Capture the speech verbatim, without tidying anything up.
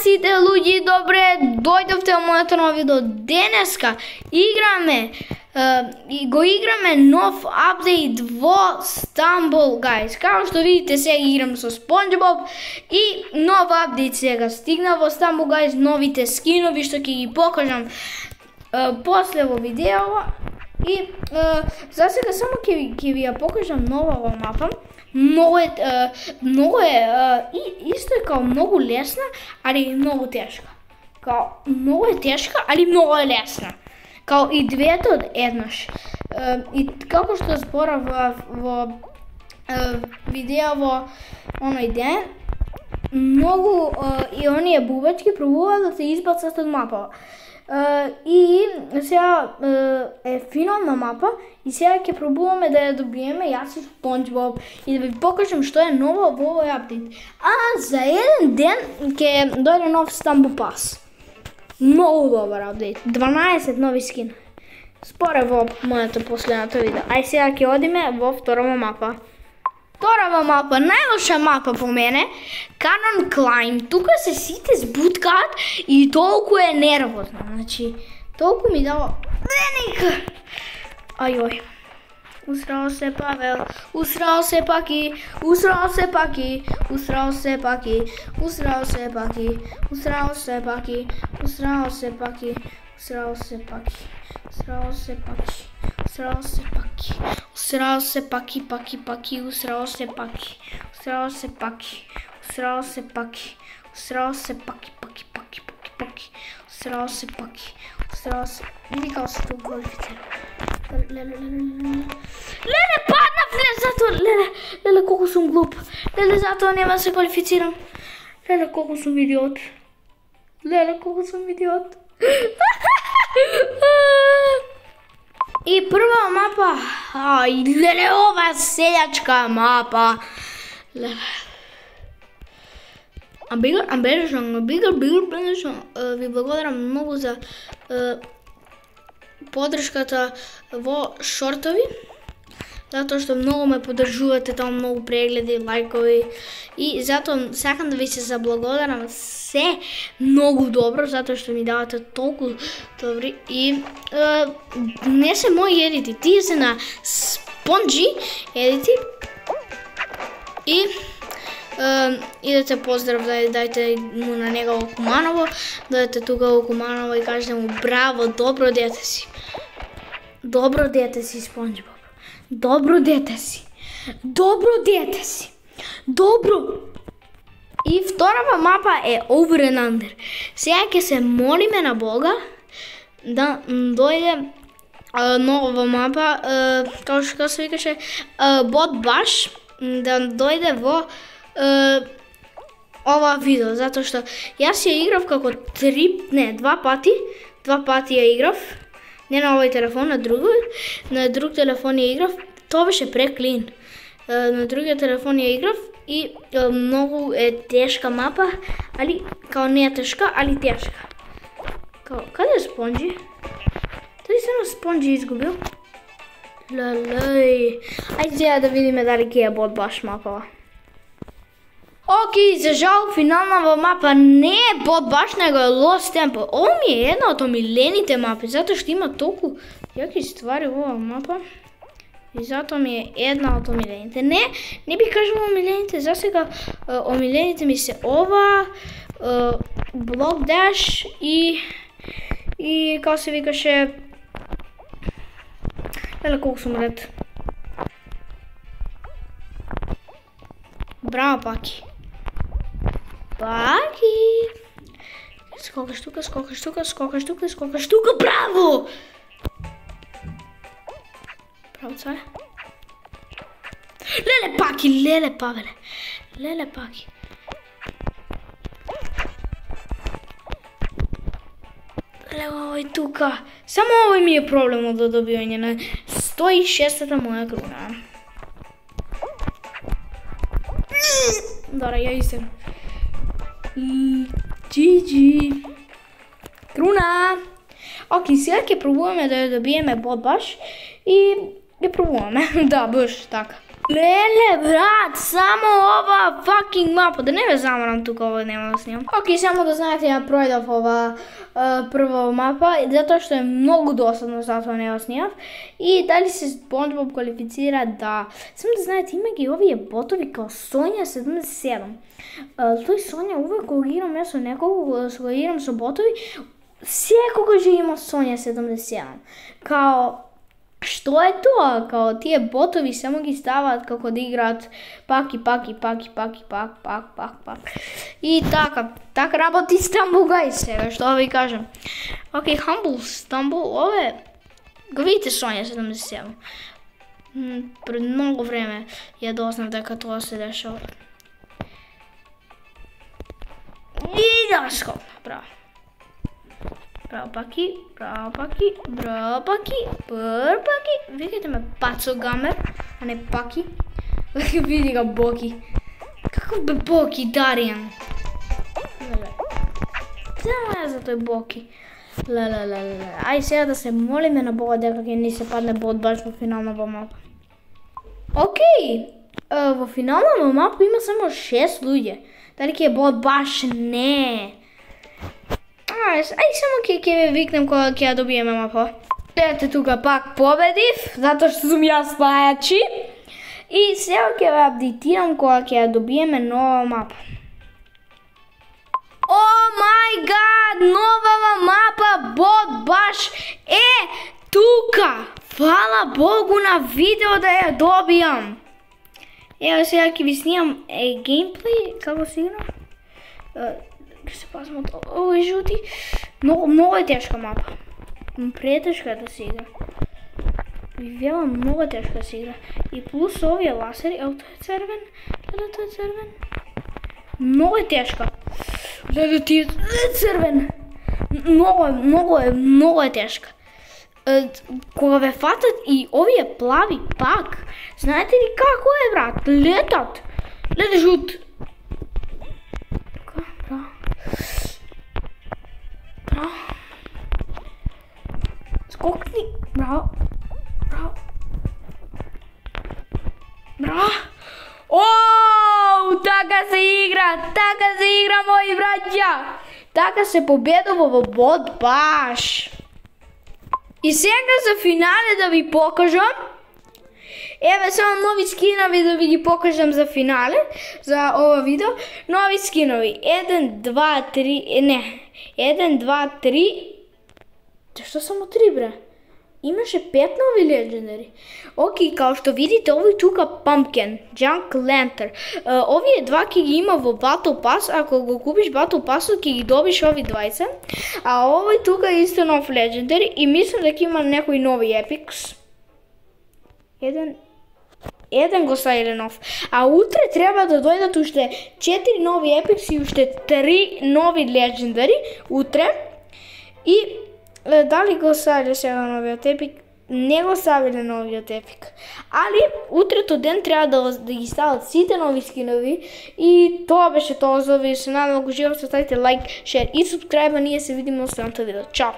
сите луѓе, добре дојдовте во моето ново видео. Денеска играме uh, и го играме нов апдейт во Stumble Guys. Како што видите, сега играм со SpongeBob и нов апдейт сега стигна во Stumble Guys, новите скинови што ќе ги покажам uh, после во видео. И uh, за сега само ќе ќе ви ја покажам нова во мапа. Много е, uh, много е, uh, и, исто е као многу лесна, али многу тешка. Као многу е тешка, али многу е лесна. Као и двете од еднаш. Uh, и како што зборав во, во uh, видео во оној ден, многу uh, и оние бубачки пробуваат да се избацат од мапа. Uh, и сега uh, е финална мапа и сега ќе пробуваме да ја добиеме јас и SpongeBob и да ви покажам што е ново во овој апдейт. А за еден ден ќе дојде нов Stumble Pass. Многу добар апдейт. дванаесет нови скина. Споре во моето последното видео. Ај сега ќе одиме во вторава мапа. Вторава мапа, најлоша мапа по мене, Cannon Climb. Тука се сите збуткаат и толку е нервозно. Значи, толку ми дава деника. Ајој. Усрал се Павел, усрал се Паки, усрал се Паки, усрал се Паки, усрал се Паки, усрал се Паки, усрал се Паки, усрал се Паки, усрал се Паки. Усрал се Паки, усрал се Паки, Паки, Паки, усрал се Паки, усрал се Паки, усрал се Паки, усрал се Паки, Паки, Паки, Паки, Паки, усрал се Паки, усрал се... Види како се тук квалифицира. Леле, леле, леле, леле, паднав, леле, затоа, леле, леле, колку сум глуп, леле, затоа нема да се квалифицирам. Леле, колку сум идиот. Леле, колку сум идиот. И прва мапа, ај, леле, ова селјачка мапа. Леле. А бигар, а бежан, бигар, бигар, бежан. Ви благодарам многу за е, подршката во шортови. Затоа што многу ме поддржувате, таму многу прегледи, лајкови. И затоа сакам да ви се заблагодарам се многу добро, затоа што ми давате толку добри. И е, не се мои едити, тие се на Spongy едити. И е, идете поздрав, дај, дајте му на него во Куманово, дојдете тука во Куманово и кажете му браво, добро дете си. Добро дете си, SpongeBob. Добро дете си. Добро дете си. Добро. И вторава мапа е Over and Under. Сега ќе се молиме на Бога да дојде а, нова мапа, а, како што се викаше, а, Bot Bash, да дојде во а, ова видео, затоа што јас ја играв како три, не, два пати, два пати ја играв. Не на овој телефон, на друг, на друг телефон ја играв, тоа беше преклин. На другиот телефон ја играв и многу е тешка мапа, али као не е тешка, али тешка. Као, каде е Spongy? Дали се на Spongy изгубил? Лелеј. Ајде сега да видиме дали ќе е Bot Bash мапа. Окей, за жал, финална мапа не е Bot Bash, него е Lost Temple. Ово ми е една од омилените мапи, затоа што има толку јаки ствари во оваа мапа. И затоа ми е една од омилените. Не, не би кажала омилените, за сега омилените ми се ова, Block Dash и и како се викаше, леле колку сум ред. Браво, Паки. Паки. Скокаш тука, скокаш тука, скокаш тука, скокаш тука, браво! Браво, царе. Леле, Паки, леле, Павеле. Леле, Паки. Леле, овој тука. Само овој ми е проблемот до добивање на сто и шестата моја круна. Дора, ја истем. Джи-джи. Круна. Окей, сега ќе пробуваме да ја добиеме Bot Bash и ќе пробуваме. Да, баш така. Леле, брат, само ова fucking мапа, да не ве замарам тука, ова нема да снимам. Окей, само да знаете, ја пројдов ова uh, прва мапа, затоа што е многу досадно, затоа не ја снимав. И дали се SpongeBob квалифицира, да. Само да знаете, има ги овие ботови као Сонја седумдесет и седум. Uh, тој Сонја, увек кога играм ја со некого, кога играм со ботови, секогаш има Сонја седумдесет и седум. Као, што е тоа? Као тие ботови само ги ставаат како да играат пак и пак и пак и пак и пак, пак, пак, пак. И така, така работи Stumble Guys сега, што да ви кажам. Окей, Humble Stumble, ове, го видите Сонја седумдесет и седум. Пред многу време ја дознав дека тоа се дешава. И да скоп, браво. Браво паки, браво паки, браво паки, пр паки. Викайте ме Пацо Гамер, а не Паки. Види га Боки. Каков бе Боки, Даријан? Само е за тој Боки. Лелелеле. Ај сега да се молиме на Бога дека ќе ни се падне бот баш во финалната мапа. Океј, во финалната мапа има само шест луѓе. Дали ќе е бот баш? Не. Ај, само ќе ќе ве викнем кога ќе ја добиеме мапа. Ете тука пак победив, затоа што сум јас пајачи. И сега ќе ве апдейтирам кога ќе ја добиеме нова мапа. О мај гад, новава мапа бот баш е тука. Фала Богу на видео да ја добијам. Ево сега ќе ви снимам е геймплей, како се игра. Ке се пазам од овој жути. Многу, многу е тешка мапа. Претешка да се игра. Ви велам, многу е тешка да се игра. И плюс овие ласери, ево тој е црвен, леле тој е црвен. Многу е тешка. Леле ти е црвен. Многу е, многу е, многу е тешка. Кога ве фатат и овие плави пак, знаете ли како е, брат? Летат. Леле жут. Браво. Браво. Скокни. Браво. Браво. Браво. Оу, така се игра. Така се игра, мои браќа. Така се победува во бот баш. И сега за финале да ви покажам. Еве само нови скинови да ви ги покажам за финале, за ова видео. Нови скинови. еден, два, три, не. еден, два, три. Што само три, бре? Имаше пет нови легендари. Окей, као што видите, овој тука Pumpkin, Junk Lantern. Овие два ќе ги има во Battle Pass, ако го купиш Battle Pass-от ќе ги добиш ови двајца. А овој тука е исто нов легендари и мислам дека има некои нови epics. Еден Еден го сајле нов. А утре треба да дојдат уште четири нови epics и уште три нови легендари утре. И дали го сајле сега новиот епик? Не го сајле новиот епик. Али утрето ден треба да, да ги стават сите нови скинови. И тоа беше тоа за овие. Се надам ако живеете, ставите лайк, шер и субскрајба. Ние се видиме во следното видео. Чао!